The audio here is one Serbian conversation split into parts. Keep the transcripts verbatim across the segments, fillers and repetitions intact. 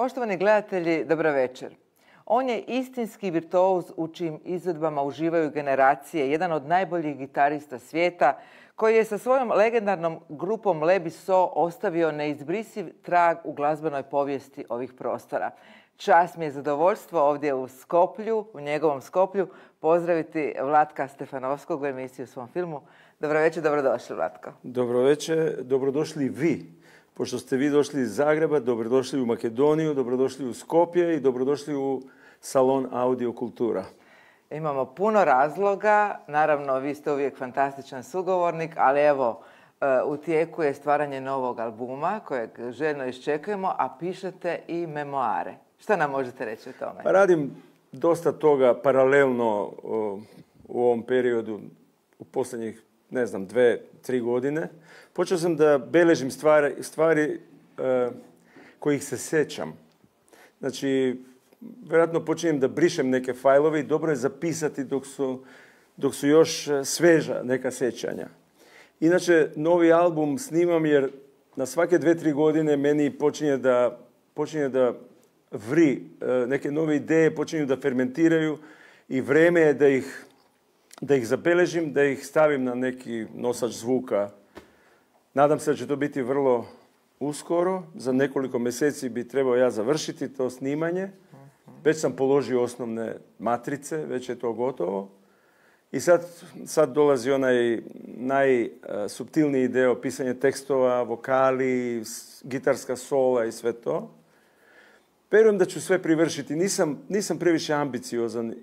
Poštovani gledatelji, dobro večer. On je istinski virtuoz u čijim izvedbama uživaju generacije, jedan od najboljih gitarista svijeta, koji je sa svojom legendarnom grupom Lebi So ostavio neizbrisiv trag u glazbenoj povijesti ovih prostora. Čast mi je zadovoljstvo ovdje u Skoplju, u njegovom Skoplju, pozdraviti Vlatka Stefanovskog u emisiji u svom filmu. Dobro večer, dobrodošli, Vlatko. Dobro večer, dobrodošli vi. Pošto ste vi došli iz Zagreba, dobrodošli u Makedoniju, dobrodošli u Skopje i dobrodošli u salon Audio Kultura. Imamo puno razloga, naravno vi ste uvijek fantastičan sugovornik, ali evo, u tijeku je stvaranje novog albuma kojeg željno iščekujemo, a pišete i memoare. Šta nam možete reći o tome? Pa radim dosta toga paralelno u ovom periodu, u posljednjih, ne znam, dve, tri godine. Počeo sam da beležim stvari, stvari uh, kojih se sećam. Znači, vjerojatno počinjem da brišem neke fajlove i dobro je zapisati dok su, dok su još sveža neka sećanja. Inače, novi album snimam jer na svake dve, tri godine meni počinje da, počinje da vri uh, neke nove ideje, počinju da fermentiraju i vreme je da ih, da ih zabeležim, da ih stavim na neki nosač zvuka. Nadam se da će to biti vrlo uskoro. Za nekoliko mjeseci bi trebao ja završiti to snimanje. Već sam položio osnovne matrice, već je to gotovo. I sad, sad dolazi onaj najsuptilniji dio, pisanje tekstova, vokali, gitarska sola i sve to. Vjerujem da ću sve privršiti. Nisam, nisam previše ambiciozan.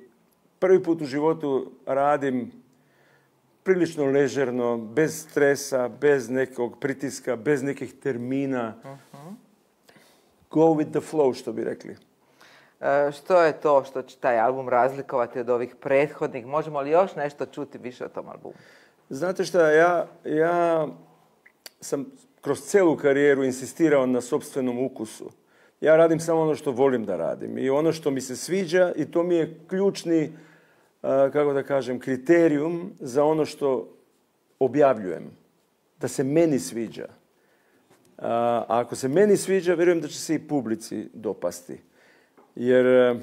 Prvi put u životu radim prilično ležerno, bez stresa, bez nekog pritiska, bez nekih termina. Uh-huh. Go with the flow, što bi rekli. E, što je to što će taj album razlikovati od ovih prethodnih? Možemo li još nešto čuti više o tom albumu? Znate šta, ja, ja sam kroz celu karijeru insistirao na sopstvenom ukusu. Ja radim samo ono što volim da radim i ono što mi se sviđa i to mi je ključni, kako da kažem, kriterijum za ono što objavljujem. Da se meni sviđa. A ako se meni sviđa, vjerujem da će se i publici dopasti. Jer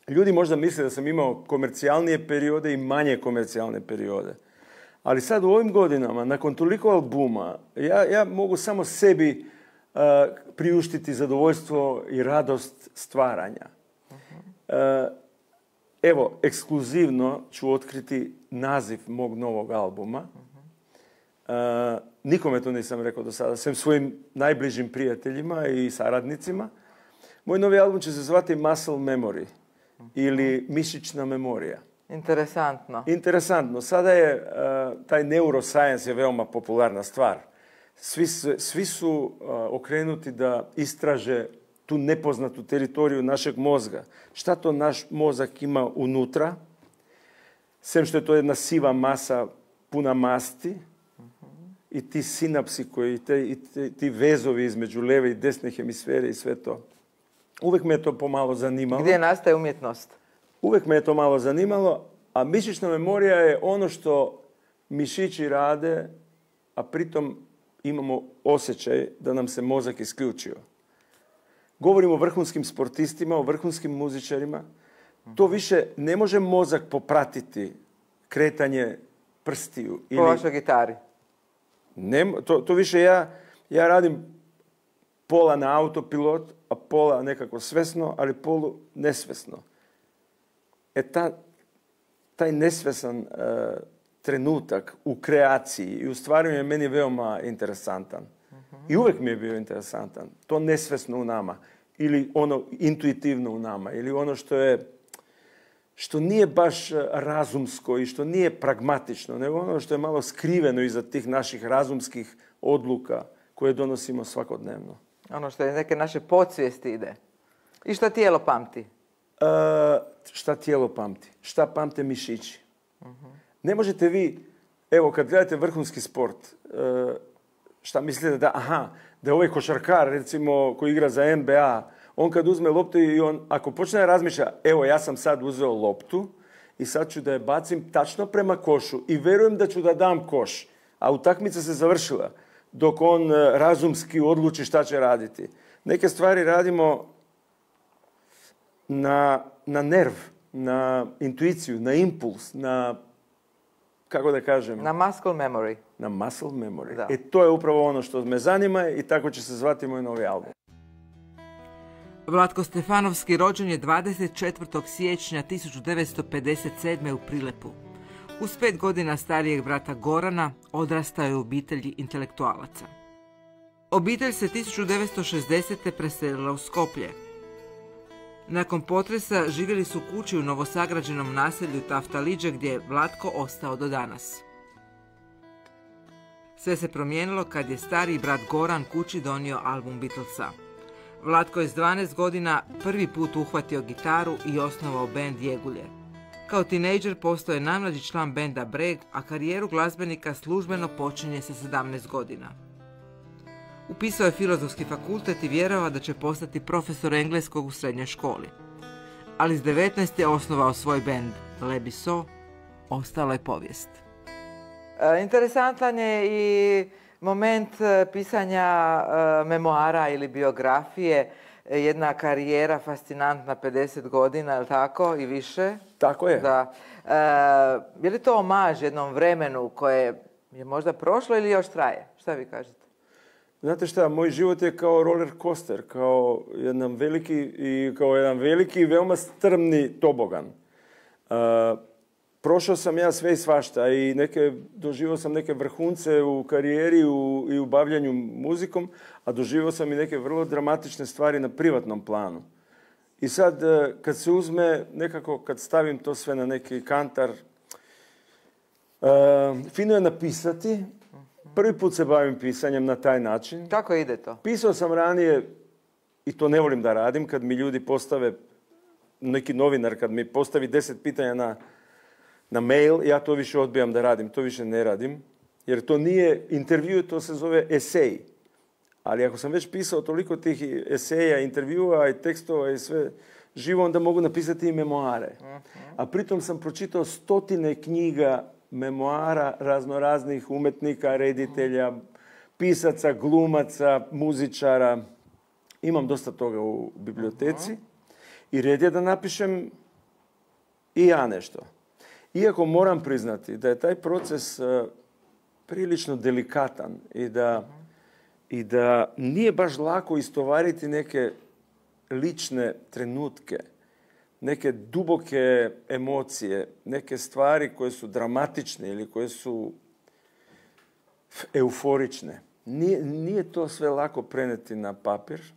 ljudi možda misle da sam imao komercijalnije periode i manje komercijalne periode. Ali sad u ovim godinama, nakon toliko albuma, ja, ja mogu samo sebi uh, priuštiti zadovoljstvo i radost stvaranja. Uh, Evo, ekskluzivno ću otkriti naziv mog novog albuma. Uh, nikome to nisam rekao do sada, sem svojim najbližim prijateljima i saradnicima. Moj novi album će se zvati Muscle Memory ili Mišićna memorija. Interesantno. Interesantno. Sada je uh, taj neuroscience je veoma popularna stvar. Svi, svi su uh, okrenuti da istraže tu nepoznatu teritoriju našeg mozga. Šta to naš mozak ima unutra? Sem što je to jedna siva masa puna masti uh-huh. i ti sinapsi koji, te, i te, ti vezovi između leve i desne hemisfere i sve to. Uvijek me je to pomalo zanimalo. Gdje nastaje umjetnost? Uvijek me je to malo zanimalo, a mišićna memorija je ono što mišići rade, a pritom imamo osjećaj da nam se mozak isključio. Govorimo o vrhunskim sportistima, o vrhunskim muzičarima. To više ne može mozak popratiti kretanje prstiju. Po vašoj gitari? Ne, to, to više ja, ja radim pola na autopilot, a pola nekako svesno, ali polu nesvesno. E ta, taj nesvesan uh, trenutak u kreaciji i u stvaranju je meni veoma interesantan. I uvijek mi je bio interesantan. To nesvesno u nama. Ili ono intuitivno u nama. Ili ono što je, što nije baš razumsko i što nije pragmatično, nego ono što je malo skriveno iza tih naših razumskih odluka koje donosimo svakodnevno. Ono što je neke naše podsvijesti ide. I šta tijelo pamti? Uh, šta tijelo pamti? Šta pamte mišići? Uh-huh. Ne možete vi, evo kad gledate vrhunski sport, uh, šta mislite da, aha, da je ovaj košarkar, recimo, koji igra za N B A, on kad uzme loptu i on, ako počne da razmišlja, evo, ja sam sad uzeo loptu i sad ću da je bacim tačno prema košu i verujem da ću da dam koš, a utakmica se završila dok on razumski odluči šta će raditi. Neke stvari radimo na, na nerv, na intuiciju, na impuls, na, kako da kažem? Na muscle memory. Na muscle memory. Da. E to je upravo ono što me zanima i tako će se zvati moj novi album. Vlatko Stefanovski rođen je dvadeset četvrtog siječnja tisuću devetsto pedeset sedme. u Prilepu. Uz pet godina starijeg brata Gorana odrastao je u obitelji intelektualaca. Obitelj se tisuću devetsto šezdesete. preselila u Skoplje. Nakon potresa živjeli su u kući u novosagrađenom naselju Taftaliđe gdje je Vlatko ostao do danas. Sve se promijenilo kad je stariji brat Goran kući donio album Beatlesa. Vlatko je s dvanaest godina prvi put uhvatio gitaru i osnovao bend Jegulje. Kao tinejdžer postao je najmlađi član benda Breg, a karijeru glazbenika službeno počinje sa sedamnaest godina. Upisao je filozofski fakultet i vjerovao da će postati profesor engleskog u srednjoj školi. Ali s devetnaest je osnovao svoj bend Lebiso, ostala je povijest. E, interesantan je i moment pisanja e, memoara ili biografije, e, jedna karijera fascinantna, pedeset godina, je li tako, i više? Tako je. Da. E, je li to omaž jednom vremenu koje je možda prošlo ili još traje? Šta vi kažete? Znate šta, moj život je kao roller coaster, kao jedan veliki i kao jedan veliki i veoma strmni tobogan. Uh, prošao sam ja sve i svašta i neke, doživio sam neke vrhunce u karijeri u, i u bavljanju muzikom, a doživio sam i neke vrlo dramatične stvari na privatnom planu. I sad, kad se uzme, nekako kad stavim to sve na neki kantar, uh, fino je napisati. Prvi put se bavim pisanjem na taj način. Kako ide to? Pisao sam ranije, i to ne volim da radim, kad mi ljudi postave, neki novinar, kad mi postavi deset pitanja na, na mail, ja to više odbijam da radim, to više ne radim. Jer to nije intervju, to se zove esej. Ali ako sam već pisao toliko tih eseja, intervjua i tekstova i sve živo, onda mogu napisati i memoare. A pritom sam pročitao stotine knjiga memoara raznoraznih umetnika, reditelja, pisaca, glumaca, muzičara. Imam dosta toga u biblioteci i red je da napišem i ja nešto. Iako moram priznati da je taj proces uh, prilično delikatan i da, i da nije baš lako istovariti neke lične trenutke, neke duboke emocije, neke stvari koje su dramatične ili koje su euforične. Nije, nije to sve lako preneti na papir.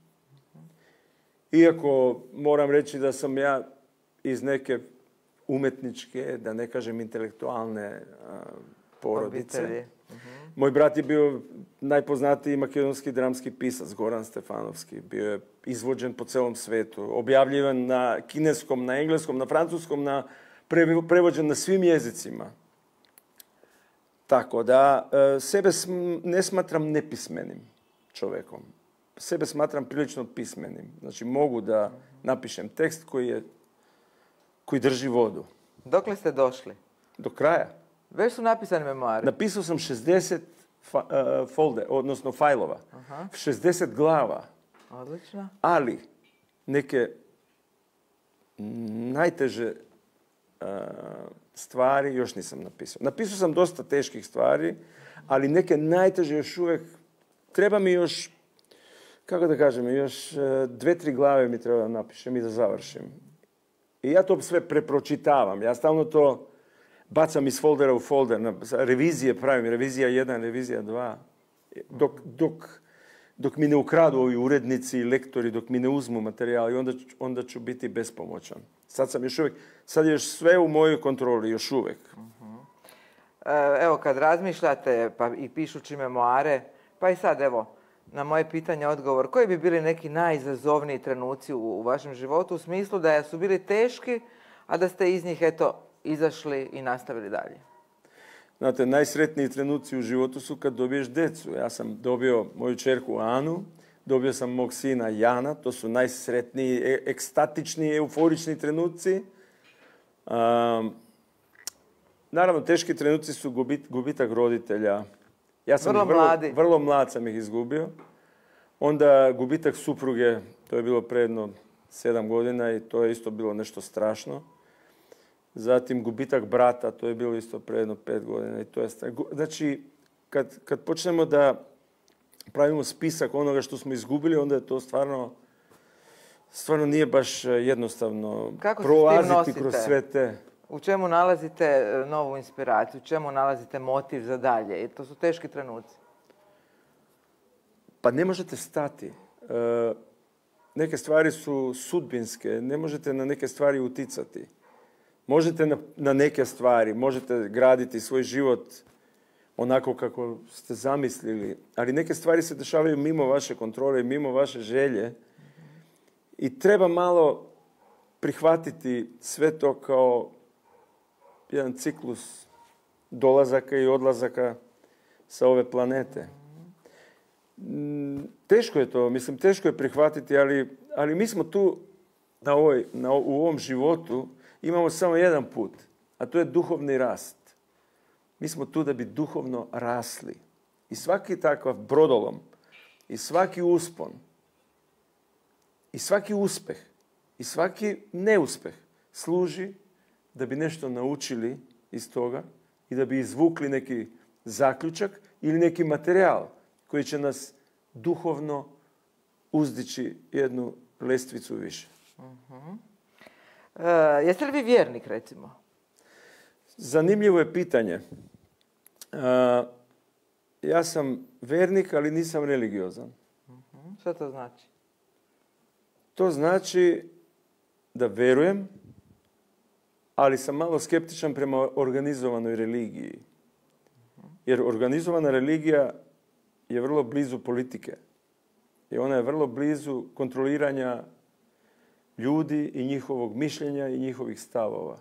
Iako moram reći da sam ja iz neke umetničke, da ne kažem intelektualne a, porodice. Obitelji. Uh-huh. Moj brat je bio najpoznatiji makedonski dramski pisac, Goran Stefanovski. Bio je izvođen po celom svetu, objavljivan na kineskom, na engleskom, na francuskom, na prevođen na svim jezicima. Tako da sebe ne smatram nepismenim čovekom. Sebe smatram prilično pismenim. Znači mogu da napišem tekst koji je, koji drži vodu. Dokle ste došli? Do kraja. Već su napisani memoari. Napisao sam šezdeset fa, uh, folde, odnosno fajlova. Aha. šezdeset glava. Odlično. Ali neke najteže uh, stvari još nisam napisao. Napisao sam dosta teških stvari, ali neke najteže još uvijek treba mi još, kako da kažem, još uh, dve, tri glave mi treba da napišem i da završim. I ja to sve prepročitavam. Ja stalno to bacam iz foldera u folder, na revizije pravim, revizija jedan, revizija dva. Dok, dok, dok mi ne ukradu ovi urednici i lektori, dok mi ne uzmu materijal, i onda, onda ću biti bespomoćan. Sad sam još uvijek, sad je još sve u mojoj kontroli, još uvijek. Uh-huh. Evo, kad razmišljate, pa i pišući memoare, pa i sad, evo, na moje pitanje odgovor, koji bi bili neki najizazovniji trenuci u, u vašem životu, u smislu da su bili teški, a da ste iz njih, eto, izašli i nastavili dalje? Znate, najsretniji trenuci u životu su kad dobiješ decu. Ja sam dobio moju čerku Anu, dobio sam mog sina Jana, to su najsretniji, e- ekstatični, euforični trenuci. Um, naravno, teški trenuci su gubit, gubitak roditelja. Ja sam vrlo vrlo, mladi. Vrlo mlad sam ih izgubio. Onda gubitak supruge, to je bilo pre jedno sedam godina i to je isto bilo nešto strašno. Zatim gubitak brata, to je bilo isto pre jedno pet godina i to je strašno. Znači, kad, kad počnemo da pravimo spisak onoga što smo izgubili, onda je to stvarno, stvarno nije baš jednostavno prolaziti kroz sve te... U čemu nalazite novu inspiraciju? U čemu nalazite motiv za dalje? I to su teški trenuci. Pa ne možete stati. E, neke stvari su sudbinske. Ne možete na neke stvari uticati. Možete na, na neke stvari, možete graditi svoj život onako kako ste zamislili, ali neke stvari se dešavaju mimo vaše kontrole, mimo vaše želje i treba malo prihvatiti sve to kao jedan ciklus dolazaka i odlazaka sa ove planete. Teško je to, mislim, teško je prihvatiti, ali, ali mi smo tu na ovoj, na, u ovom životu imamo samo jedan put, a to je duhovni rast. Mi smo tu da bi duhovno rasli. I svaki takav brodolom, i svaki uspon, i svaki uspeh, i svaki neuspeh služi da bi nešto naučili iz toga i da bi izvukli neki zaključak ili neki materijal koji će nas duhovno uzdići jednu lestvicu više. Uh-huh. E, jeste li vi vjernik, recimo? Zanimljivo je pitanje. E, ja sam vjernik, ali nisam religiozan. Uh-huh. Što to znači? To znači da verujem, ali sam malo skeptičan prema organizovanoj religiji. Jer organizovana religija je vrlo blizu politike. I ona je vrlo blizu kontroliranja ljudi i njihovog mišljenja i njihovih stavova.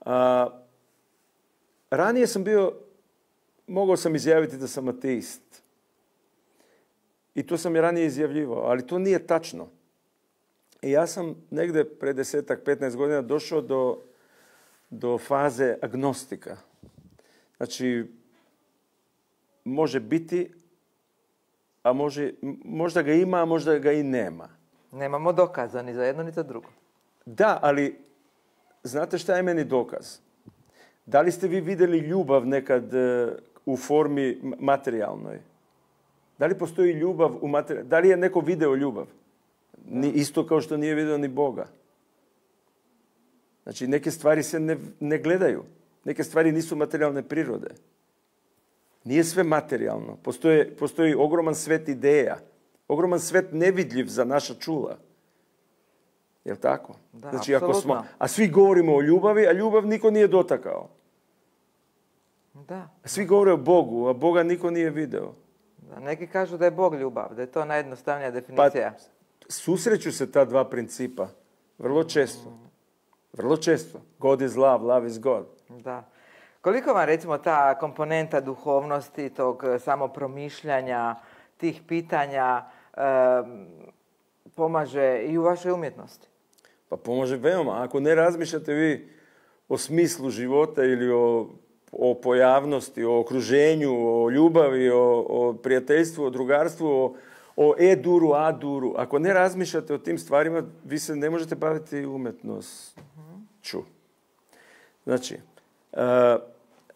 A, ranije sam bio, mogao sam izjaviti da sam ateist. I to sam i ranije izjavljivao, ali to nije tačno. I ja sam negde pre desetak, petnaest godina došao do, do faze agnostika. Znači, može biti, a može, možda ga ima, a možda ga i nema. Nemamo dokaza ni za jedno, ni za drugo. Da, ali znate šta je meni dokaz? Da li ste vi vidjeli ljubav nekad u formi materijalnoj? Da li postoji ljubav u materijalnoj? Da li je neko video ljubav? Ni, isto kao što nije vidio ni Boga. Znači, neke stvari se ne, ne gledaju. Neke stvari nisu materijalne prirode. Nije sve materijalno. Postoje, postoji ogroman svet ideja. Ogroman svet nevidljiv za naša čula. Jel' tako? Da, znači, ako smo, a svi govorimo o ljubavi, a ljubav niko nije dotakao. Da. Svi govore o Bogu, a Boga niko nije video. Da, neki kažu da je Bog ljubav, da je to najjednostavnija definicija. Pa, susreću se ta dva principa. Vrlo često. Vrlo često. God is love, love is God. Da. Koliko vam, recimo, ta komponenta duhovnosti, tog samopromišljanja, tih pitanja e, pomaže i u vašoj umjetnosti? Pa pomaže veoma. Ako ne razmišljate vi o smislu života ili o, o pojavnosti, o okruženju, o ljubavi, o, o prijateljstvu, o drugarstvu, o, o e-duru, a-duru, ako ne razmišljate o tim stvarima, vi se ne možete baviti umjetnošću. Znači, uh,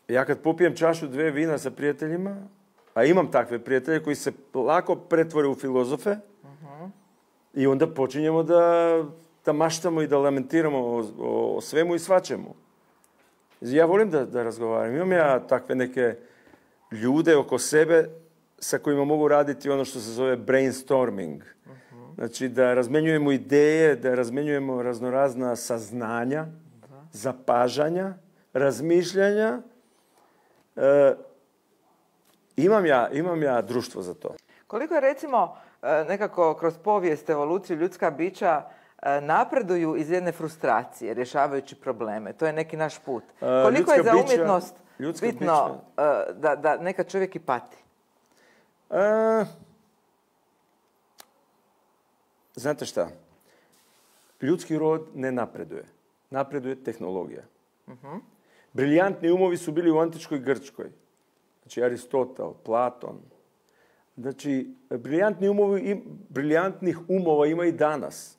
ja kad popijem čašu dve vina sa prijateljima, a imam takve prijatelje koji se lako pretvore u filozofe, uh-huh. i onda počinjemo da, da maštamo i da lamentiramo o, o svemu i svačemu. Ja volim da, da razgovaram. Imam ja takve neke ljude oko sebe sa kojima mogu raditi ono što se zove brainstorming. Uh-huh. Znači da razmenjujemo ideje, da razmenjujemo raznorazna saznanja, uh-huh. zapažanja, razmišljanja. E, imam, ja, imam ja društvo za to. Koliko je, recimo, nekako kroz povijest, evoluciju ljudska bića napreduju iz jedne frustracije, rješavajući probleme? To je neki naš put. Koliko je za umjetnost bića, bitno bića. Da, da neka čovjek i pati? E, znate šta? Ljudski rod ne napreduje. Napreduje tehnologija. Uh-huh. Briljantni umovi su bili u antičkoj Grčkoj. Znači Aristotel, Platon. Znači, briljantni umovi, briljantnih umova ima i danas.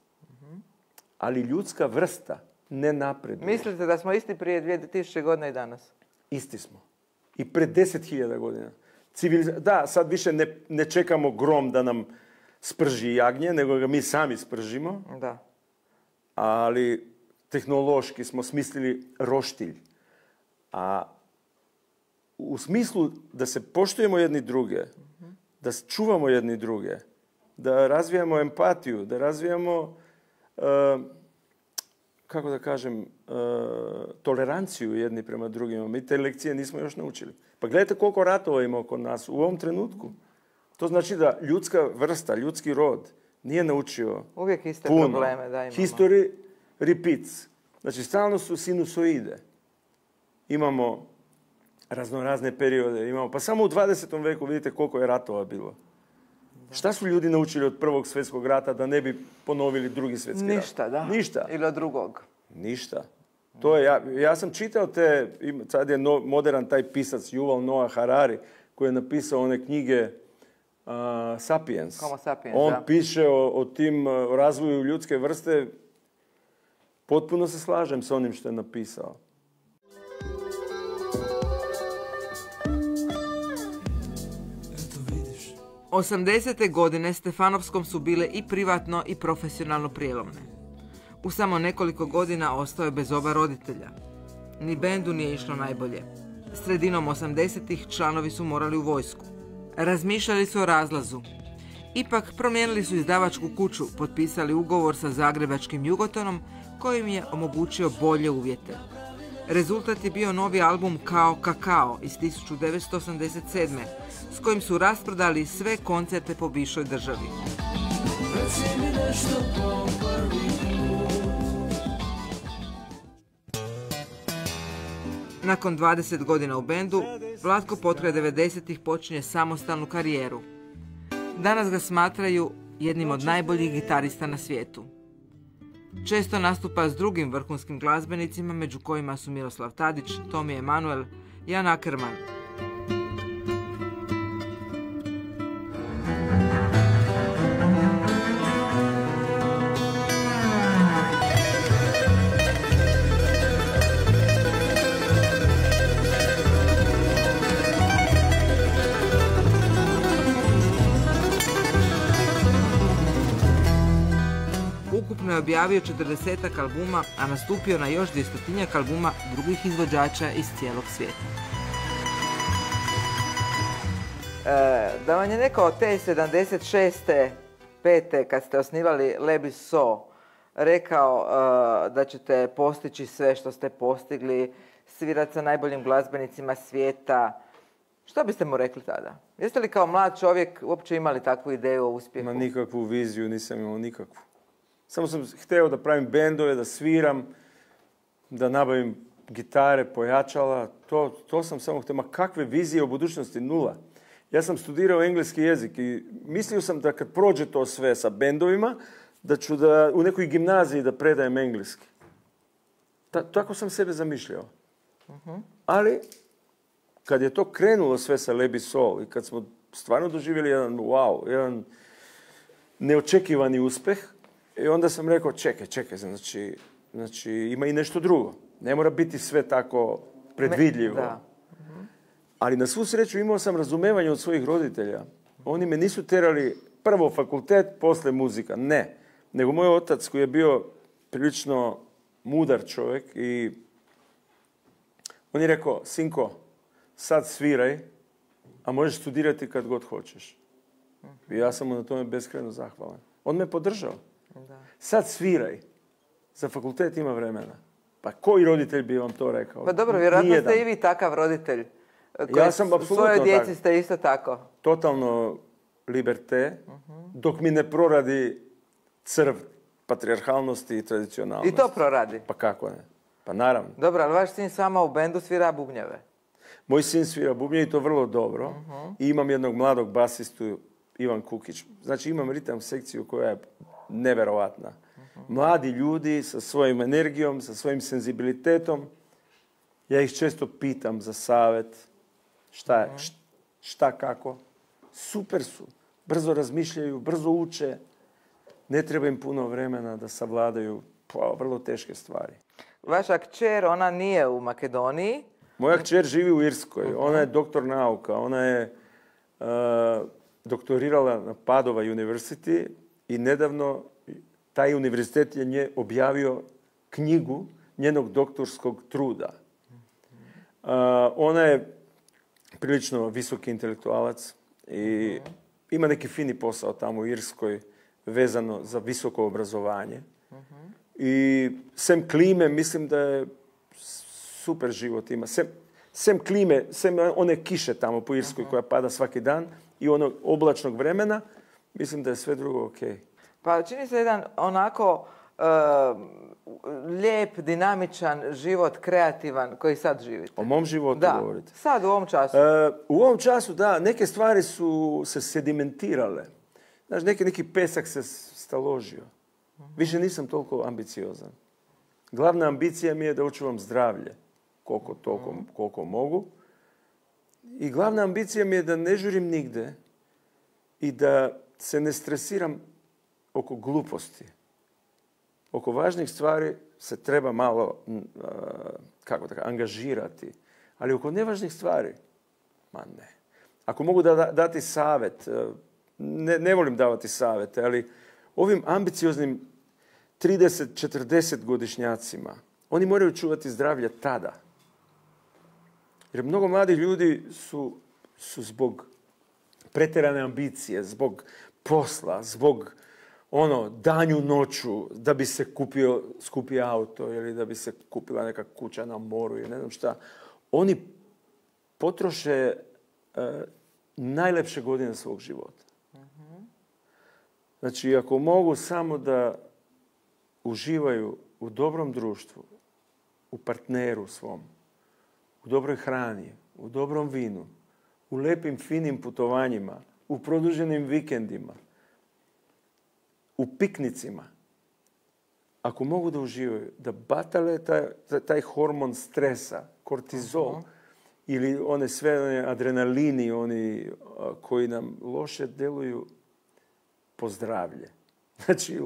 Ali ljudska vrsta ne napreduje. Mislite da smo isti prije dvije tisuće godina i danas? Isti smo. I pred deset hiljada godina. Civiliza... Da, sad više ne, ne čekamo grom da nam sprži jagnje, nego ga mi sami spržimo. Da. Ali tehnološki smo smislili roštilj. A u smislu da se poštujemo jedni druge, da čuvamo jedni druge, da razvijamo empatiju, da razvijamo, uh, kako da kažem, uh, toleranciju jedni prema drugima. Mi te lekcije nismo još naučili. Pa gledajte koliko ratova ima oko nas u ovom trenutku. To znači da ljudska vrsta, ljudski rod nije naučio uvijek iste puno. probleme da imamo. History repeats. Znači, stalno su sinusoide. Imamo raznorazne periode. Imamo, pa samo u dvadesetom veku vidite koliko je ratova bilo. Da. Šta su ljudi naučili od prvog svjetskog rata da ne bi ponovili drugi svjetski rat? Ništa, da. Ništa. Ili od drugog. Ništa. To je, ja, ja sam čitao te, sad je no, modern taj pisac Yuval Noah Harari, koji je napisao one knjige uh, Sapiens. Homo sapiens, On da. piše o, o tim o razvoju ljudske vrste. Potpuno se slažem s onim što je napisao. osamdesete godine Stefanovskom su bile i privatno i profesionalno prijelomne. U samo nekoliko godina ostao je bez oba roditelja. Ni bendu nije išlo najbolje. Sredinom osamdesetih članovi su morali u vojsku. Razmišljali su o razlazu. Ipak promijenili su izdavačku kuću, potpisali ugovor sa zagrebačkim Jugotonom kojim je omogućio bolje uvjete. Rezultat je bio novi album Kao kakao iz tisuću devetsto osamdeset sedme s kojim su rasprodali sve koncerte po bivšoj državi. Nakon dvadeset godina u bendu, Vlatko potkraj devedesetih počinje samostalnu karijeru. Danas ga smatraju jednim od najboljih gitarista na svijetu. Često nastupa s drugim vrhunskim glazbenicima, među kojima su Miroslav Tadić, Tomi Emanuel, Jan Ackerman. Ukupno je objavio četrdesetak albuma, a nastupio na još dvjestotinjak albuma drugih izvođača iz cijelog svijeta. E, da vam je neko od te sedamdeset šeste pete kad ste osnivali Lebi So rekao e, da ćete postići sve što ste postigli, svirati sa najboljim glazbenicima svijeta, što biste mu rekli tada? Jeste li kao mlad čovjek uopće imali takvu ideju o uspjehu? Ma nikakvu viziju nisam imao, nikakvu. Samo sam htio da pravim bendove, da sviram, da nabavim gitare, pojačala. To, to sam samo htio. Ma kakve vizije o budućnosti? Nula. Ja sam studirao engleski jezik i mislio sam da kad prođe to sve sa bendovima, da ću da, u nekoj gimnaziji da predajem engleski. Ta, tako sam sebe zamišljao. Uh-huh. Ali, kad je to krenulo sve sa Lebi Soul i kad smo stvarno doživjeli jedan wow, jedan neočekivani uspjeh, i onda sam rekao, čekaj, čekaj, znači, znači ima i nešto drugo. Ne mora biti sve tako predvidljivo. Da. Uh-huh. Ali na svu sreću imao sam razumevanje od svojih roditelja. Oni me nisu terali prvo fakultet, posle muzika. Ne. Nego moj otac koji je bio prilično mudar čovjek i on je rekao, sinko, sad sviraj, a možeš studirati kad god hoćeš. Uh-huh. I ja sam mu na tome beskrajno zahvalan. On me podržao. Da. Sad sviraj. Za fakultet ima vremena. Pa koji roditelj bi vam to rekao? Pa dobro, vjerojatno ste i vi takav roditelj. Ja sam apsolutno svojoj djeci tak. Ste isto tako. Totalno liberté, uh-huh. dok mi ne proradi crv patrijarhalnosti i tradicionalnosti. I to proradi? Pa kako ne? Pa naravno. Dobro, ali vaš sin s vama u bendu svira bubnjeve? Moj sin svira bubnjeve i to vrlo dobro. Uh-huh. I imam jednog mladog basistu, Ivan Kukić. Znači imam ritam sekciju koja je neverovatna. Uh-huh. Mladi ljudi sa svojim energijom, sa svojim senzibilitetom. Ja ih često pitam za savjet. Šta je, uh-huh. šta kako. super su. Brzo razmišljaju, brzo uče. Ne treba im puno vremena da savladaju pa, vrlo teške stvari. Vaša kćer, ona nije u Makedoniji. Moja kćer živi u Irskoj. Ona je doktor nauka. Ona je uh, doktorirala na Padova University i nedavno taj univerzitet je nje objavio knjigu njenog doktorskog truda. Uh, ona je prilično visoki intelektualac i ima neki fini posao tamo u Irskoj vezano za visoko obrazovanje. I sem klime, mislim da je super život ima. Sem, sem klime, sem one kiše tamo po Irskoj koja pada svaki dan i onog oblačnog vremena, mislim da je sve drugo ok. Pa čini se jedan onako uh, lijep, dinamičan život, kreativan koji sad živite. O mom životu da, govorite? Sad u ovom času. Uh, u ovom času, da, neke stvari su se sedimentirale. Znaš, neki, neki pesak se staložio. Više nisam toliko ambiciozan. Glavna ambicija mi je da očuvam zdravlje koliko, toliko, koliko mogu. I glavna ambicija mi je da ne žurim nigde i da se ne stresiram oko gluposti. Oko važnih stvari se treba malo kako tako, angažirati. Ali oko nevažnih stvari, ma ne. Ako mogu da, da dati savjet, ne, ne volim davati savjete, ali ovim ambicioznim trideset četrdeset godišnjacima, oni moraju čuvati zdravlje tada. Jer mnogo mladih ljudi su, su zbog pretjerane ambicije, zbog posla, zbog ono, danju noću, da bi se kupio skupi auto ili da bi se kupila neka kuća na moru ili ne znam šta. Oni potroše uh, najlepše godine svog života. Znači, ako mogu samo da uživaju u dobrom društvu, u partneru svom, u dobroj hrani, u dobrom vinu, u lepim, finim putovanjima, u produženim vikendima, u piknicima, ako mogu da uživaju, da batale taj, taj hormon stresa, kortizol, uh-huh. ili one sve one adrenalini, oni a, koji nam loše deluju po zdravlje. Znači,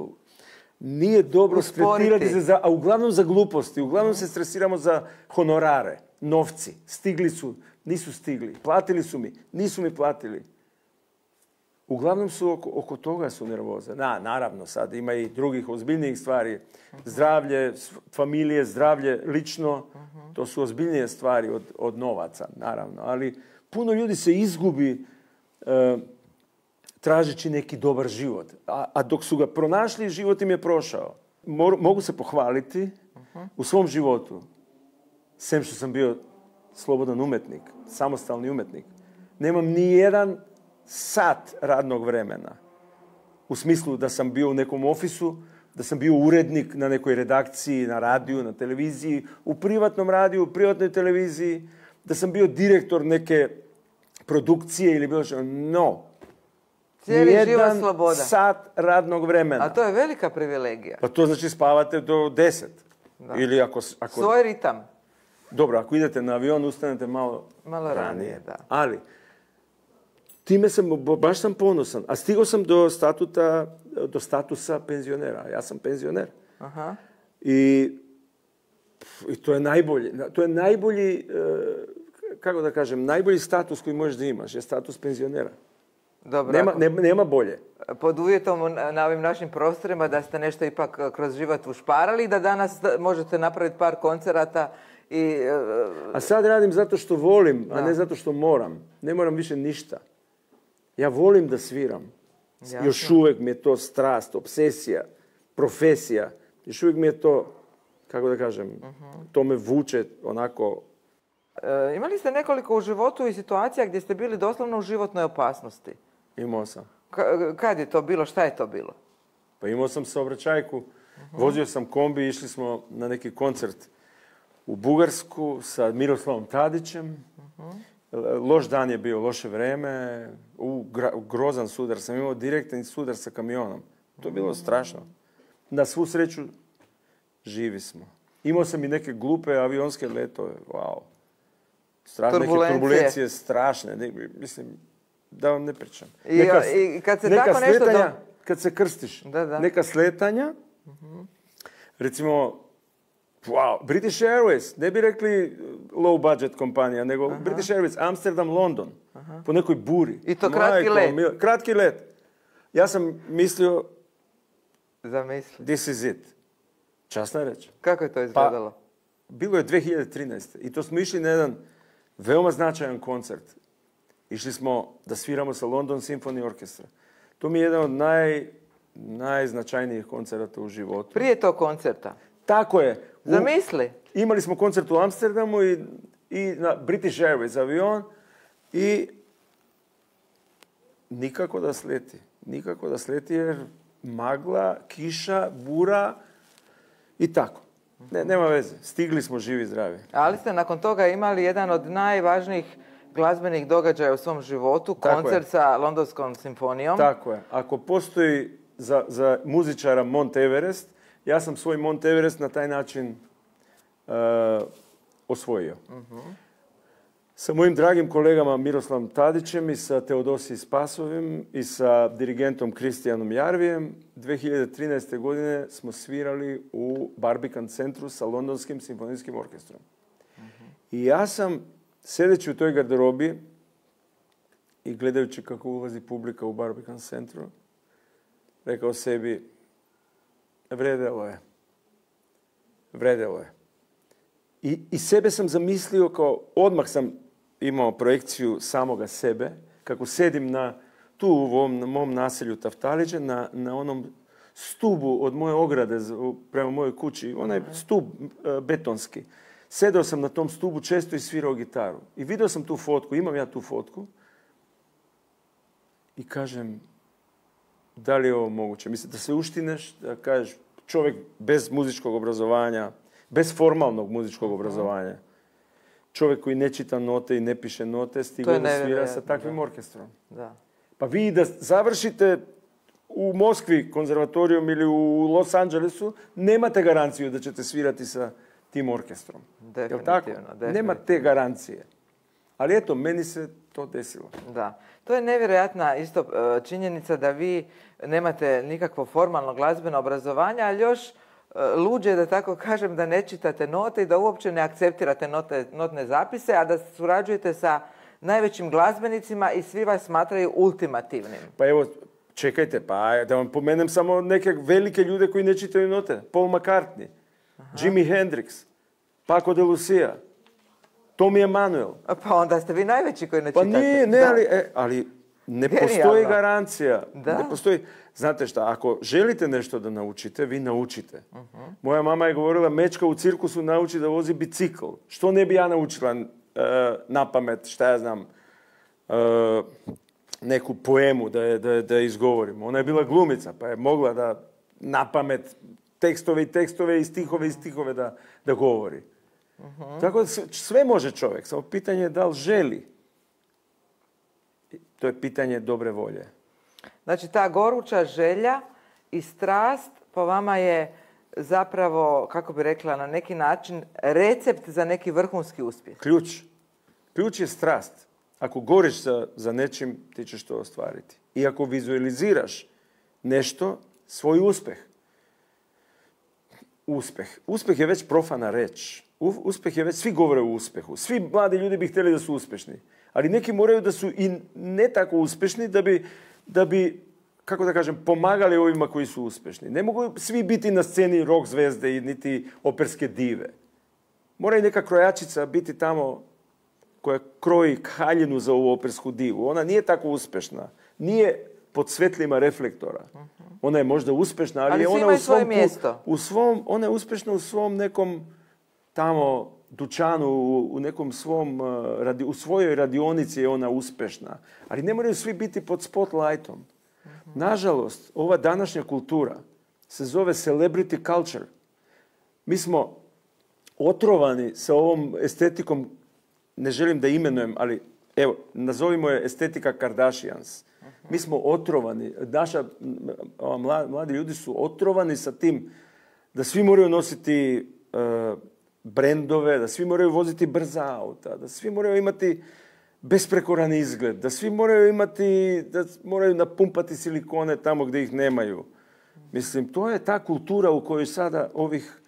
nije dobro stretirati se za, a uglavnom za gluposti, uglavnom uh-huh. se stresiramo za honorare, novci, stigli su, nisu stigli, platili su mi, nisu mi platili. Uglavnom su oko, oko toga su nervoze. Na, naravno, sad ima i drugih ozbiljnijih stvari. Zdravlje, familije, zdravlje, lično, uh-huh. to su ozbiljnije stvari od, od novaca, naravno. Ali puno ljudi se izgubi e, tražeći neki dobar život. A, a dok su ga pronašli, život im je prošao. Mor, mogu se pohvaliti uh-huh. u svom životu, sem što sam bio slobodan umetnik, samostalni umetnik. Nemam ni jedan sat radnog vremena. U smislu da sam bio u nekom ofisu, da sam bio urednik na nekoj redakciji, na radiju, na televiziji, u privatnom radiju, u privatnoj televiziji, da sam bio direktor neke produkcije ili bilo što. No. Cijeli život sloboda. Sat radnog vremena. A to je velika privilegija. Pa to znači spavate do deset. Da. Ili ako, ako... Svoj ritam. Dobro, ako idete na avion, ustanete malo, malo ranije. ranije da. Ali, time sam, baš sam ponosan. A stigao sam do statuta, do statusa penzionera. Ja sam penzioner. Aha. I, i to je najbolji, to je najbolji, kako da kažem, najbolji status koji možeš da imaš, je status penzionera. Dobro, nema, ako, nema, nema bolje. Pod uvjetom na ovim našim prostorima da ste nešto ipak kroz život ušparali i da danas možete napraviti par koncerata. I, a sad radim zato što volim, da. a ne zato što moram. Ne moram više ništa. Ja volim da sviram. Jasno. Još uvijek mi je to strast, obsesija, profesija. Još uvijek mi je to, kako da kažem, uh-huh. to me vuče onako. E, imali ste nekoliko u životu i situacija gdje ste bili doslovno u životnoj opasnosti? Imao sam. K- kad je to bilo? Šta je to bilo? Pa imao sam saobraćajku. Uh-huh. Vozio sam kombi, išli smo na neki koncert u Bugarsku sa Miroslavom Tadićem. Uh-huh. Loš dan je bio, loše vreme, u, gra, grozan sudar. Sam imao direktan sudar sa kamionom. To je bilo strašno. Na svu sreću živi smo. Imao sam i neke glupe avionske letove. Wow. Strašne, turbulencije. Neke turbulencije strašne. Ne, mislim, da vam ne pričam. I, neka, i kad se neka tako nešto sletanja, do... kad se krstiš, da, da. neka sletanja, uh-huh. recimo, wow, British Airways, ne bi rekli low budget kompanija, nego uh-huh. British Airways, Amsterdam, London, uh-huh. po nekoj buri. I to kratki let. Mil, kratki let. Ja sam mislio, Zamisli. This is it. Časna reč. Kako je to izgledalo? Pa, bilo je dvije hiljade trinaeste. i to smo išli na jedan veoma značajan koncert. Išli smo da sviramo sa London Symphony Orchestra. To mi je jedan od naj, najznačajnijih koncerata u životu. Prije tog koncerta? Tako je. U, Zamisli. Imali smo koncert u Amsterdamu i, i na British Airways avion i nikako da sleti. Nikako da sleti jer magla, kiša, bura i tako. Ne, nema veze. Stigli smo živi i zdravi. Ali ste nakon toga imali jedan od najvažnijih glazbenih događaja u svom životu, tako koncert je. Sa Londonskom simfonijom. Tako je. Ako postoji za, za muzičara Mount Everest, ja sam svoj Mount Everest na taj način uh, osvojio. Uh-huh. Sa mojim dragim kolegama Miroslavom Tadićem i sa Teodosijom Spasovim i sa dirigentom Kristijanom Jarvijem dvije hiljade trinaeste. godine smo svirali u Barbican centru sa Londonskim simfonijskim orkestrom. Uh-huh. I ja sam, sedeći u toj garderobi i gledajući kako ulazi publika u Barbican centru, rekao sebi, vredelo je. Vredelo je. I, I sebe sam zamislio kao, odmah sam imao projekciju samoga sebe, kako sedim na, tu u ovom, na mom naselju Taftaliđe, na, na onom stubu od moje ograde prema mojoj kući, onaj stup uh, betonski. Sedao sam na tom stubu često i svirao gitaru. I vidio sam tu fotku, imam ja tu fotku. I kažem, da li je ovo moguće? Mislim, da se uštineš, da kažeš, čovjek bez muzičkog obrazovanja, bez formalnog muzičkog obrazovanja, čovjek koji ne čita note i ne piše note, stigao da svira sa takvim da. orkestrom. Da. Pa vi da završite u Moskvi konzervatorijom ili u Los Angelesu, nemate garanciju da ćete svirati sa tim orkestrom. Definitivno, Jel tako? definitivno. Nema te garancije. Ali eto, meni se to desilo. Da. To je nevjerojatna isto činjenica da vi nemate nikakvo formalno glazbeno obrazovanje, ali još luđe, da tako kažem, da ne čitate note i da uopće ne akceptirate note, notne zapise, a da surađujete sa najvećim glazbenicima i svi vas smatraju ultimativnim. Pa evo, čekajte, pa da vam pomenem samo neke velike ljude koji ne čitaju note. Paul McCartney, aha. Jimi Hendrix, Paco de Lucia, Tommy Emmanuel. Pa onda ste vi najveći koji ne pa čitate. Pa nije, ne, ali, e, ali ne Genijalno. Postoji garancija. Da? Ne postoji. Znate šta, ako želite nešto da naučite, vi naučite. Uh-huh. Moja mama je govorila, mečka u cirkusu nauči da vozi bicikl. Što ne bi ja naučila uh, na pamet, šta ja znam, uh, neku poemu da je, da, je, da je izgovorim. Ona je bila glumica, pa je mogla da na pamet tekstove i tekstove i stihove i stihove da, da govori. Uh-huh. Tako da sve može čovjek, samo pitanje je da li želi. To je pitanje dobre volje. Znači, ta goruća želja i strast po vama je zapravo, kako bi rekla, na neki način recept za neki vrhunski uspjeh. Ključ. Ključ je strast. Ako goriš za, za nečim, ti ćeš to ostvariti. I ako vizualiziraš nešto, svoj uspjeh. Uspjeh. Uspjeh je već profana reč. Uspjeh je već, svi govore o uspjehu. Svi mladi ljudi bi htjeli da su uspješni. Ali neki moraju da su i ne tako uspješni da bi, da bi, kako da kažem, pomagali ovima koji su uspješni. Ne mogu svi biti na sceni rock zvezde i niti operske dive. Mora i neka krojačica biti tamo koja kroji haljinu za ovu opersku divu. Ona nije tako uspješna. Nije pod svetlima reflektora. Ona je možda uspješna, ali, ali je ona u svom, mjesto. U svom, ona je uspješna u svom nekom tamo dućanu, u nekom svom, u svojoj radionici je ona uspješna. Ali ne moraju svi biti pod spotlightom. Uh-huh. Nažalost, ova današnja kultura se zove celebrity culture. Mi smo otrovani sa ovom estetikom, ne želim da imenujem, ali evo, nazovimo je estetika Kardashians. Uh-huh. Mi smo otrovani, naša, mladi ljudi su otrovani sa tim da svi moraju nositi uh, brendove, da svi moraju voziti brza auta, da svi moraju imati besprekoran izgled, da svi moraju imati, da moraju napumpati silikone tamo gdje ih nemaju. Mislim, to je ta kultura u kojoj sada ovih,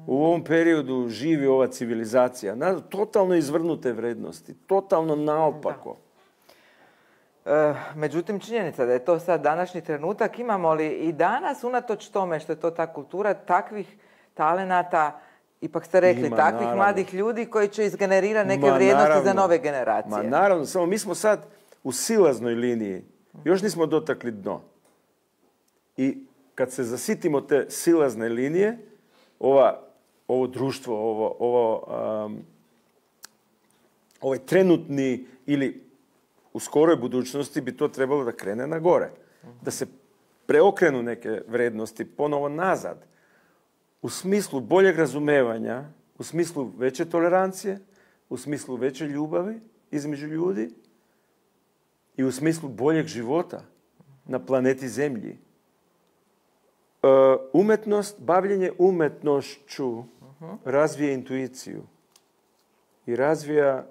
u ovom periodu živi ova civilizacija. Na, totalno izvrnute vrednosti, totalno naopako. E, međutim, činjenica da je to sad današnji trenutak, imamo li i danas, unatoč tome što je to ta kultura, takvih talenata, ipak ste rekli, Ima, takvih naravno. mladih ljudi koji će izgenerirati neke Ma, vrijednosti naravno. za nove generacije. Ma naravno, samo mi smo sad u silaznoj liniji. Još nismo dotakli dno. I kad se zasitimo te silazne linije, ova, ovo društvo, ovo, ovo, um, ovaj trenutni ili u skoroj budućnosti bi to trebalo da krene na gore. Da se preokrenu neke vrednosti ponovo nazad. U smislu boljeg razumevanja, u smislu veće tolerancije, u smislu veće ljubavi između ljudi i u smislu boljeg života na planeti Zemlji. Uh, umetnost, bavljenje umetnošću razvija intuiciju i razvija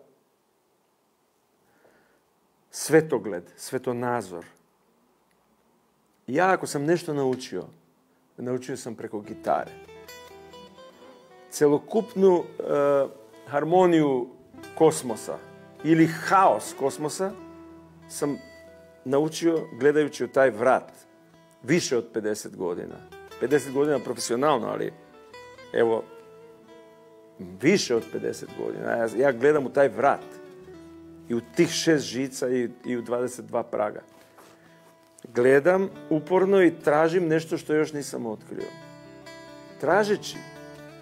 svetogled, svetonazor. Ja ako sam nešto naučio, naučio sam preko gitare. Celokupnu uh, harmoniju kosmosa ili haos kosmosa sam naučio gledajući u taj vrat. Više od pedeset godina. pedeset godina profesionalno, ali evo, više od pedeset godina. Ja, ja gledam u taj vrat. I u tih šest žica i, i u dvadeset dva praga. Gledam uporno i tražim nešto što još nisam otkrio. Tražeći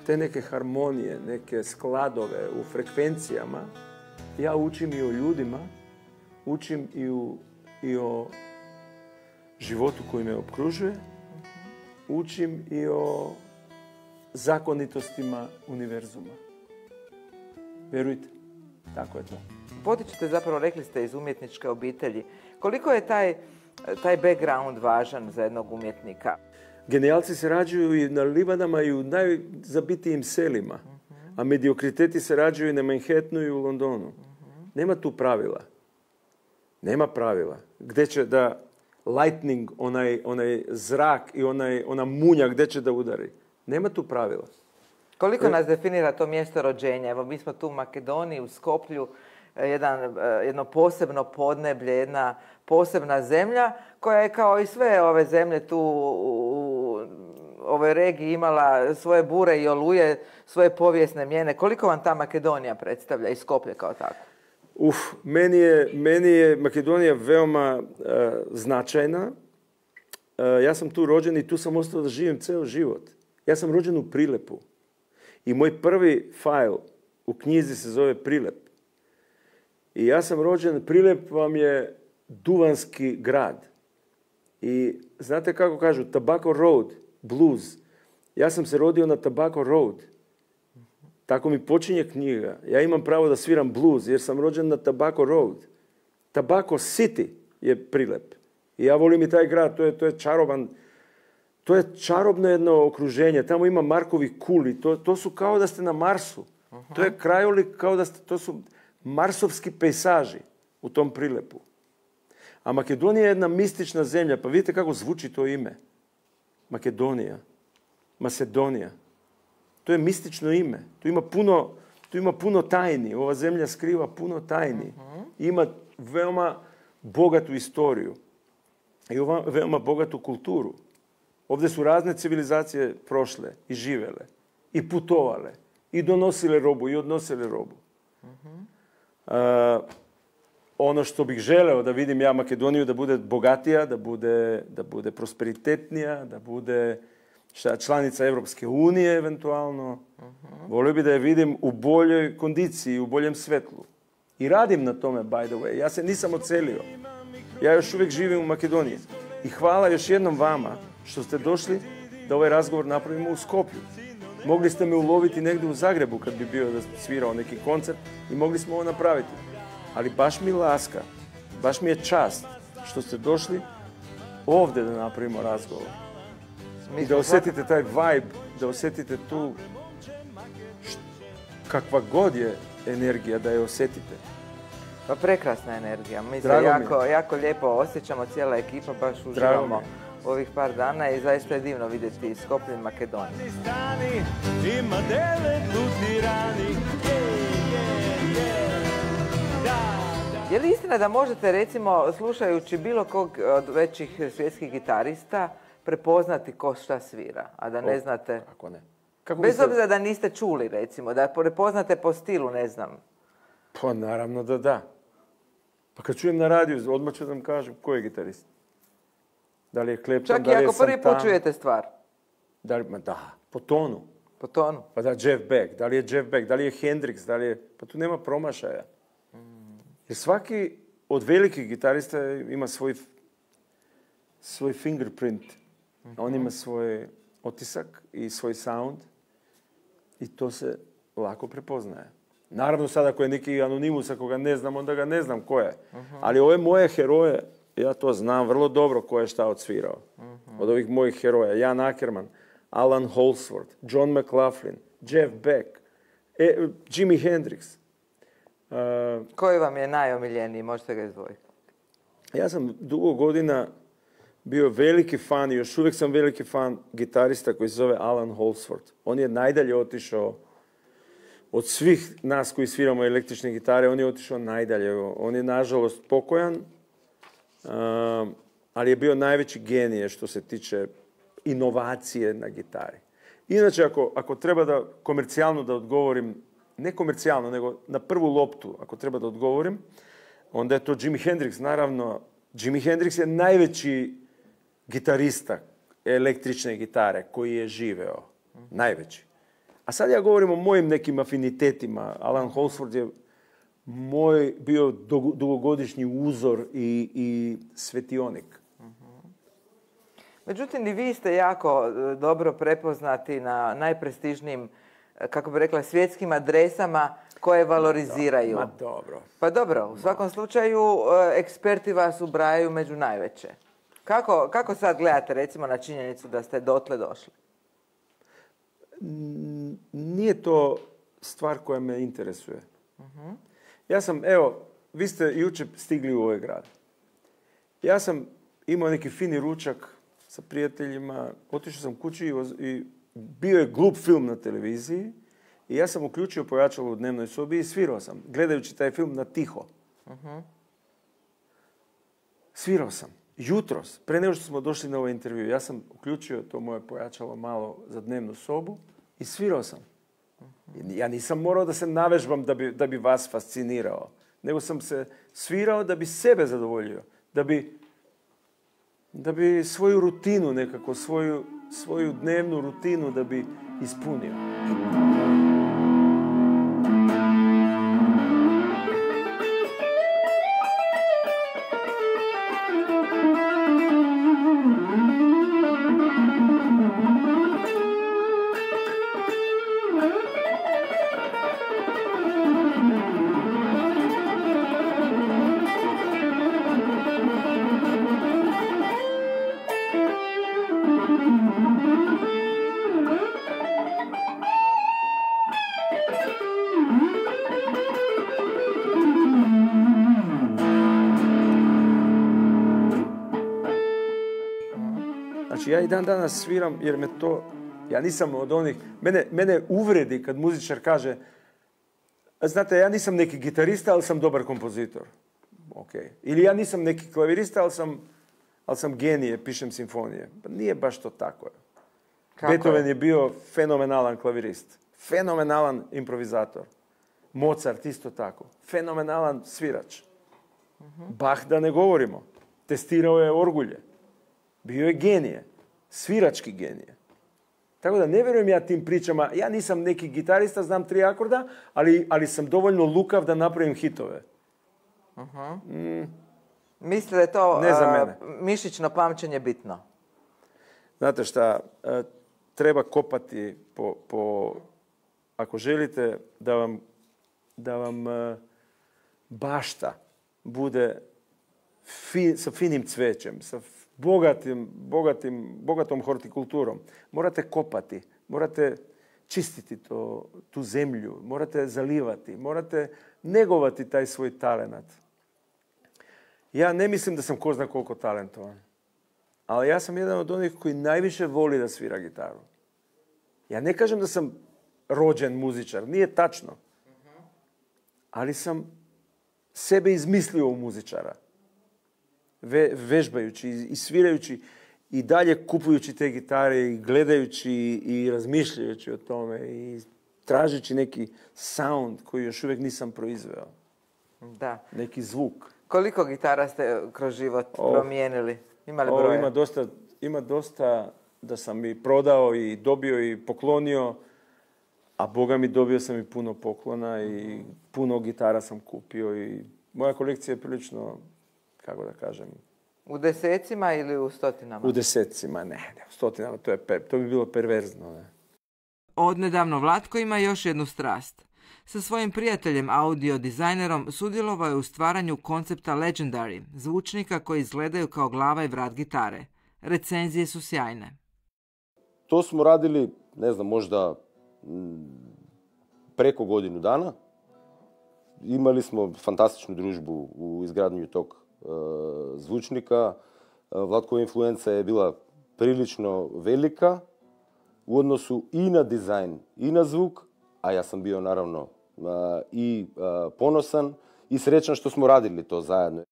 te neke harmonije, neke skladove u frekvencijama, ja učim i o ljudima, učim i, u, i o životu koji me okružuje, učim i o zakonitostima univerzuma. Vjerujte, tako je to. Potičete, zapravo rekli ste, iz umjetničke obitelji. Koliko je taj, taj background važan za jednog umjetnika? Genijalci se rađuju i na livadama i u najzabitijim selima, a mediokriteti se rađuju i na Manhattanu i u Londonu. Nema tu pravila. Nema pravila. Gdje će da lightning, onaj, onaj zrak i onaj, ona munja, gdje će da udari. Nema tu pravila. Koliko nas definira to mjesto rođenja? Evo, mi smo tu u Makedoniji, u Skoplju, jedan, jedno posebno podneblje, jedna posebna zemlja koja je kao i sve ove zemlje tu u ovoj regiji imala svoje bure i oluje, svoje povijesne mijene. Koliko vam ta Makedonija predstavlja i Skoplje kao tako? Uf, meni je, meni je Makedonija veoma uh, značajna. Uh, ja sam tu rođen i tu sam ostao da živim ceo život. Ja sam rođen u Prilepu. I moj prvi fajl u knjizi se zove Prilep. I ja sam rođen, Prilep vam je duvanski grad. I znate kako kažu, Tobacco Road, blues. Ja sam se rodio na Tobacco Road. Tako mi počinje knjiga. Ja imam pravo da sviram blues jer sam rođen na Tobacco Road. Tobacco City je Prilep. I ja volim i taj grad, to je, to je čaroban, to je čarobno jedno okruženje. Tamo ima Markovi kuli, to, to su kao da ste na Marsu. Uh-huh. To je krajolik kao da ste, to su marsovski pejsaži u tom Prilepu. A Makedonija je jedna mistična zemlja, pa vidite kako zvuči to ime. Makedonija, Macedonija. To je mistično ime. Tu ima puno, tu ima puno tajni. Ova zemlja skriva puno tajni. Uh-huh. Ima veoma bogatu istoriju. I veoma bogatu kulturu. Ovdje su razne civilizacije prošle i živele. I putovale. I donosile robu i odnosile robu. Uh-huh. Uh, ono što bih želeo da vidim ja Makedoniju da bude bogatija, da bude, da bude prosperitetnija, da bude šta, članica Evropske unije eventualno. Uh-huh. Volio bih da je vidim u boljoj kondiciji, u boljem svetlu. I radim na tome, by the way. Ja se nisam odselio. Ja još uvijek živim u Makedoniji. I hvala još jednom vama što ste došli da ovaj razgovor napravimo u Skoplju. Mogli ste me uloviti negdje u Zagrebu kad bi bio da svirao neki koncert i mogli smo ovo napraviti. Ali baš mi laska, baš mi je čast što ste došli ovdje da napravimo razgovor. I da osjetite taj vibe, da osjetite tu št, kakva god je energija, da je osjetite. Pa prekrasna energija. Mi se Drago mi je. jako, jako lijepo osjećamo, cijela ekipa, baš Drago mi uživamo je. ovih par dana i zaista je divno vidjeti Skoplje i Makedoniju. Ima devet lutirani. Je li istina da možete, recimo, slušajući bilo kog od većih svjetskih gitarista, prepoznati ko šta svira, a da ne znate... Ako ne. Kako Bez biste- obzira da niste čuli, recimo, da prepoznate po stilu, ne znam. Pa naravno da da. Pa kad čujem na radiju, odmah ću da vam kažem ko je gitarist. Da li je Clapton, Čak da i li je ako prvi put Santana, čujete stvar, Da li, ma da, po tonu. po tonu. Pa da, Jeff Beck, da li je Jeff Beck, da li je Hendrix, da li je... Pa tu nema promašaja. Jer svaki od velikih gitarista ima svoj, svoj fingerprint. On ima svoj otisak i svoj sound i to se lako prepoznaje. Naravno sad ako je neki anonimus, ako ga ne znam, onda ga ne znam ko je. Ali ove moje heroje, ja to znam vrlo dobro ko je šta odsvirao. Od ovih mojih heroja, Jan Ackerman, Alan Holdsworth, John McLaughlin, Jeff Beck, e, Jimi Hendrix. Uh, Koji vam je najomiljeniji, možete ga izdvojiti? ja sam dugo godina bio veliki fan i još uvijek sam veliki fan gitarista koji se zove Alan Holdsworth. On je najdalje otišao od svih nas koji sviramo električne gitare, on je otišao najdalje. On je nažalost pokojan, um, ali je bio najveći genije što se tiče inovacije na gitari. Inače, ako, ako treba da komercijalno da odgovorim, ne komercijalno, nego na prvu loptu, ako treba da odgovorim, onda je to Jimi Hendrix. Naravno, Jimi Hendrix je najveći gitarista električne gitare koji je živeo. Najveći. A sad ja govorim o mojim nekim afinitetima. Alan Holdsworth je moj bio dugo- dugogodišnji uzor i, i svetionik. Međutim, i vi ste jako e, dobro prepoznati na najprestižnijim, e, kako bi rekla, svjetskim adresama koje valoriziraju. Ma dobro. Pa dobro, u svakom slučaju e, eksperti vas ubrajaju među najveće. Kako, kako sad gledate, recimo, na činjenicu da ste dotle došli? Nije to stvar koja me interesuje. Ja sam, evo, vi ste jučer stigli u ovaj grad. Ja sam imao neki fini ručak sa prijateljima, otišao sam kući i, voz- i bio je glup film na televiziji i ja sam uključio pojačalo u dnevnoj sobi i svirao sam, gledajući taj film na tiho. Svirao sam. Jutros, pre nego što smo došli na ovaj intervju, ja sam uključio to moje pojačalo malo za dnevnu sobu i svirao sam. Ja nisam morao da se navežbam da bi, da bi vas fascinirao, nego sam se svirao da bi sebe zadovoljio, da bi, da bi svoju rutinu nekako, svoju, svoju dnevnu rutinu da bi ispunio. Znači, ja i dan danas sviram jer me to, ja nisam od onih, mene, mene uvredi kad muzičar kaže, znate, ja nisam neki gitarista, ali sam dobar kompozitor. Ok. Ili ja nisam neki klavirista, ali sam, ali sam genije, pišem simfonije. Pa nije baš to tako. Kako Beethoven je? je bio fenomenalan klavirist, fenomenalan improvizator. Mozart isto tako, fenomenalan svirač. Bach da ne govorimo, testirao je orgulje. Bio je genije, svirački genije. Tako da ne vjerujem ja tim pričama, ja nisam neki gitarista, znam tri akorda, ali, ali sam dovoljno lukav da napravim hitove. Mislite da je to Ne za a, mene. mišićno pamćenje bitno? Znate šta, e, treba kopati po, po ako želite da vam, da vam e, bašta bude fi- sa finim cvećem, sa f- bogatim, bogatim, bogatom hortikulturom, morate kopati, morate čistiti to, tu zemlju, morate zalivati, morate negovati taj svoj talenat. Ja ne mislim da sam ko zna koliko talentovan, ali ja sam jedan od onih koji najviše voli da svira gitaru. Ja ne kažem da sam rođen muzičar, nije tačno. Ali sam sebe izmislio u muzičara. Ve, vežbajući i svirajući i dalje kupujući te gitare i gledajući i razmišljajući o tome i tražeći neki sound koji još uvijek nisam proizveo. Da. Neki zvuk. Koliko gitara ste kroz život oh. promijenili? Ima li oh, broja? Ima dosta, ima dosta da sam i prodao i dobio i poklonio, a Boga mi dobio sam i puno poklona i puno gitara sam kupio i moja kolekcija je prilično, kako da kažem... U desecima ili u stotinama? U desecima, ne, ne, u stotinama, to, je, to bi bilo perverzno. Ne. Odnedavno Vlatko ima još jednu strast. Sa svojim prijateljem, audio dizajnerom, sudjelovao je u stvaranju koncepta Legendary, zvučnika koji izgledaju kao glava i vrat gitare. Recenzije su sjajne. To smo radili, ne znam, možda preko godinu dana. Imali smo fantastičnu družbu u izgradnju tog e, zvučnika. Vlatkova influenca je bila prilično velika u odnosu i na dizajn i na zvuk, a ja sam bio naravno i ponosan i srećan što smo radili to zajedno.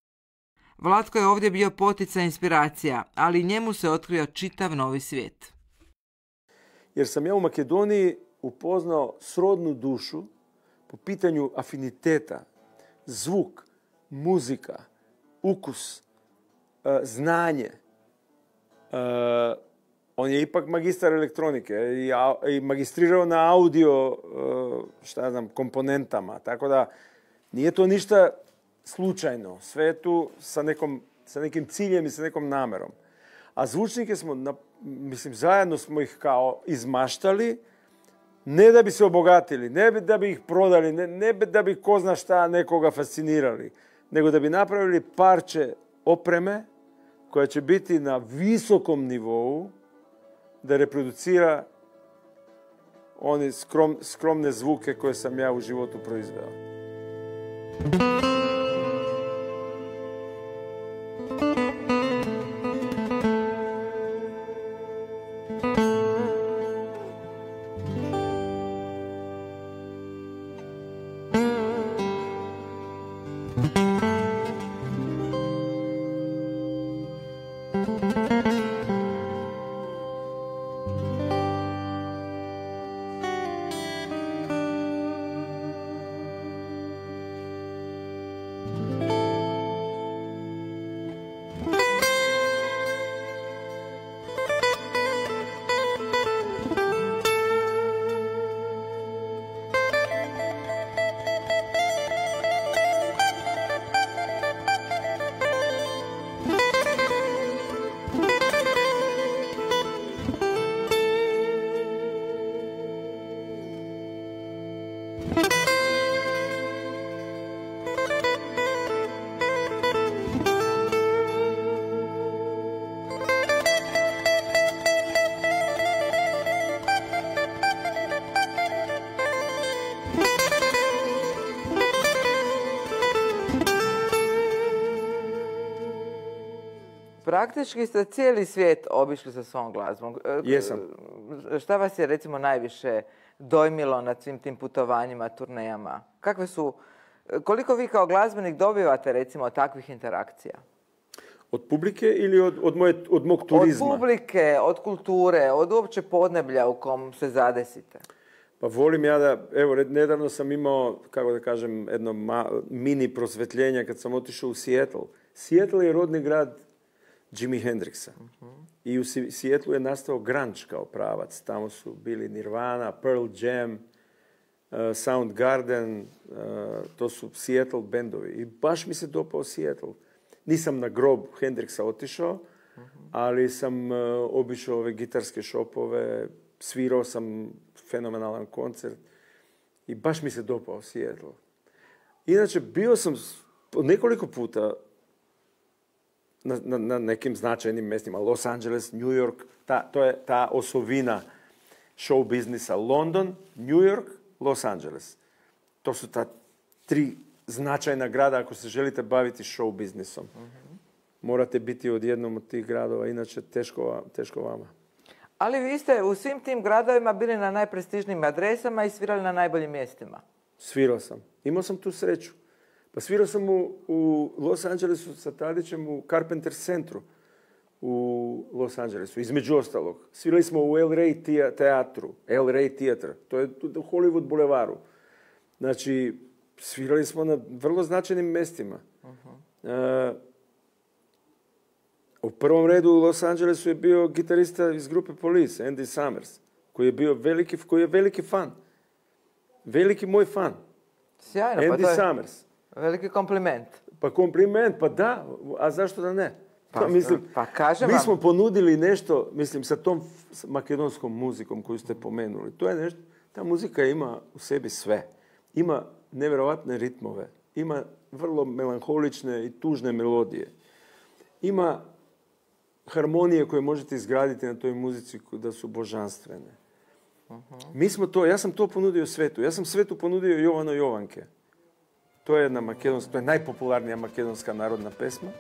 Vlatko je ovdje bio poticaj inspiracija, ali njemu se otkrio čitav novi svijet. Jer sam ja u Makedoniji upoznao srodnu dušu po pitanju afiniteta, zvuk, muzika, ukus, znanje. On je ipak magistar elektronike i magistrirao na audio, šta ja znam, komponentama. Tako da nije to ništa slučajno. Sve je tu sa, nekom, sa nekim ciljem i sa nekom namerom. A zvučnike smo, na, mislim, zajedno smo ih kao izmaštali, ne da bi se obogatili, ne da bi ih prodali, ne, ne da bi ko zna šta nekoga fascinirali, nego da bi napravili parče opreme koja će biti na visokom nivou, da reproducira one skrom, skromne zvuke koje sam ja u životu proizveo. Praktički ste cijeli svijet obišli sa svom glazbom. Jesam. Šta vas je recimo najviše dojmilo na svim tim putovanjima, turnejama? Kakve su, koliko vi kao glazbenik dobivate recimo takvih interakcija? Od publike ili od, od, moje, od mog turizma? Od publike, od kulture, od uopće podneblja u kom se zadesite. Pa volim ja da, evo, nedavno sam imao, kako da kažem, jedno ma, mini prosvetljenje kad sam otišao u Seattle. Seattle je rodni grad Jimi Hendrixa. Uh-huh. I u Seattlu je nastao grunge kao pravac. Tamo su bili Nirvana, Pearl Jam, uh, Soundgarden, uh, to su Seattle bendovi. I baš mi se dopao Seattle. Nisam na grob Hendrixa otišao, uh-huh. ali sam uh, obišao ove gitarske šopove, svirao sam fenomenalan koncert i baš mi se dopao Seattle. Inače, bio sam nekoliko puta Na, na, na nekim značajnim mjestima. Los Angeles, New York, ta, to je ta osovina show biznisa. London, New York, Los Angeles. To su ta tri značajna grada ako se želite baviti show biznisom. Morate biti od jednom od tih gradova, inače teško, teško vama. Ali vi ste u svim tim gradovima bili na najprestižnijim adresama i svirali na najboljim mjestima. Svirao sam. Imao sam tu sreću. Pa svirao sam u, u Los Angelesu sa Tadićem u Carpenter centru u Los Angelesu, između ostalog. Svirali smo u El Rey teatru, El Rey teatr, to je u Hollywood bulevaru. Znači, svirali smo na vrlo značajnim mjestima. Uh-huh. Uh, u prvom redu u Los Angelesu je bio gitarista iz grupe Police, Andy Summers, koji je bio veliki, koji je veliki fan. Veliki moj fan. Sjajno, Andy pa to je Summers. Veliki kompliment. Pa kompliment, pa da, a zašto da ne? Pa, mislim, pa kažem mi vam. smo ponudili nešto, mislim, sa tom makedonskom muzikom koju ste pomenuli. To je nešto, ta muzika ima u sebi sve. Ima nevjerovatne ritmove, ima vrlo melanholične i tužne melodije. Ima harmonije koje možete izgraditi na toj muzici da su božanstvene. Uh-huh. Mi smo to, ja sam to ponudio svetu. Ja sam svetu ponudio Jovano Jovanke. To je jedna makedonska, to je najpopularnija makedonska narodna pesma.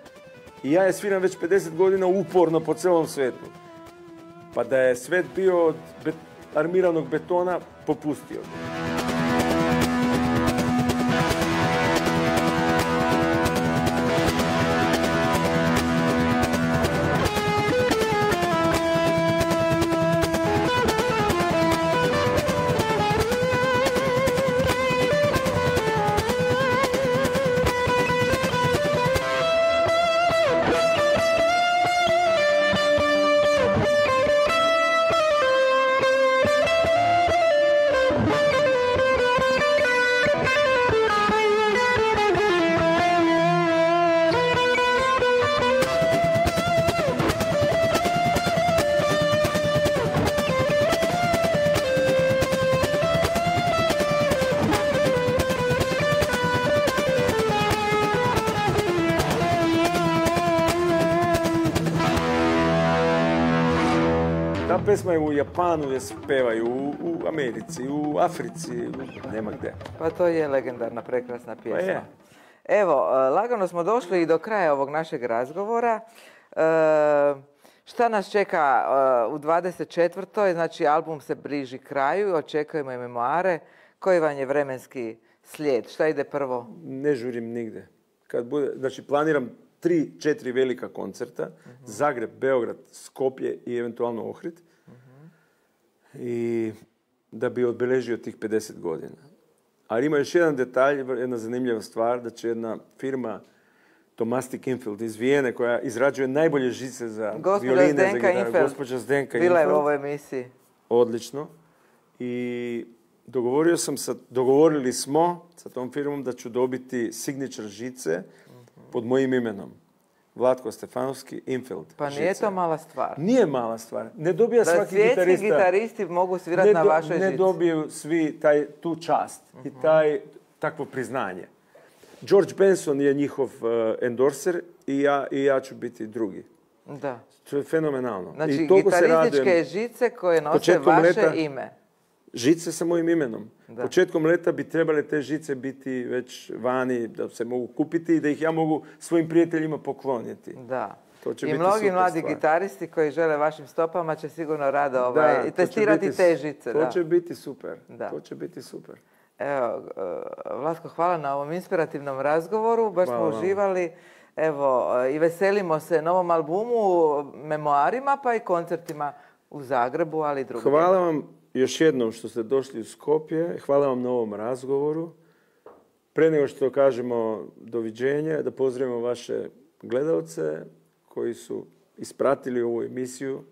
I ja je sviram već pedeset godina uporno po celom svetu. Pa da je svet bio od bet, armiranog betona, popustio bi. Pesma je u Japanu, je pevaju, u, u Americi, u Africi, u, nema gdje. Pa to je legendarna, prekrasna pjesma. Pa je. Evo, lagano smo došli i do kraja ovog našeg razgovora. E, šta nas čeka u dvadeset četvrtoj Znači, album se bliži kraju, očekujemo i memoare. Koji vam je vremenski slijed? Šta ide prvo? Ne žurim nigde. Kad bude, znači, planiram tri, četiri velika koncerta. Uh-huh. Zagreb, Beograd, Skopje i eventualno Ohrid. I da bi odbeležio tih pedeset godina. Ali ima još jedan detalj, jedna zanimljiva stvar, da će jedna firma Tomasti Kinfield iz Vijene, koja izrađuje najbolje žice za Gospođa violine, Zdenka za gitaru. Infeld. Gospođa Zdenka Bila Infeld. je u ovoj emisiji. Odlično. I dogovorio sam sa, dogovorili smo sa tom firmom da ću dobiti signature žice uh-huh. pod mojim imenom. Vlatko Stefanovski, Infeld. Pa nije žice. To mala stvar. Nije mala stvar. Ne dobija da svaki gitarista. Da svjetski gitaristi mogu svirati na vašoj žici. Ne dobiju svi taj, tu čast uh-huh. i taj, takvo priznanje. George Benson je njihov uh, endorser i ja, i ja ću biti drugi. Da. To je fenomenalno. Znači, I gitarističke žice koje nose Početkom vaše leta, ime. Žice sa mojim imenom. Da. Početkom leta bi trebale te žice biti već vani, da se mogu kupiti i da ih ja mogu svojim prijateljima pokloniti. Da. To će I biti mnogi mladi stvar. gitaristi koji žele vašim stopama će sigurno rado ovaj, da, testirati biti, te žice. To da. će biti super. Da. To će biti super. Evo, Vlatko, hvala na ovom inspirativnom razgovoru. Baš hvala smo uživali. Evo, i veselimo se novom albumu, memoarima, pa i koncertima u Zagrebu, ali i drugdje. Hvala vam još jednom što ste došli u Skopje. Hvala vam na ovom razgovoru. Pre nego što kažemo doviđenja, da pozdravimo vaše gledalce koji su ispratili ovu emisiju.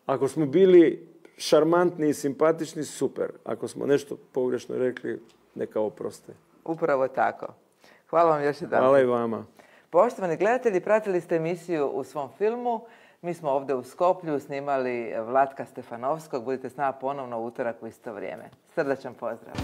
Ako smo bili šarmantni i simpatični, super. Ako smo nešto pogrešno rekli, neka oproste. Upravo tako. Hvala vam još jedan. Hvala i vama. Poštovani gledatelji, pratili ste emisiju U svom filmu. Mi smo ovdje u Skoplju snimali Vlatka Stefanovskog. Budite s nama ponovno u utorak u isto vrijeme. Srdačan pozdrav.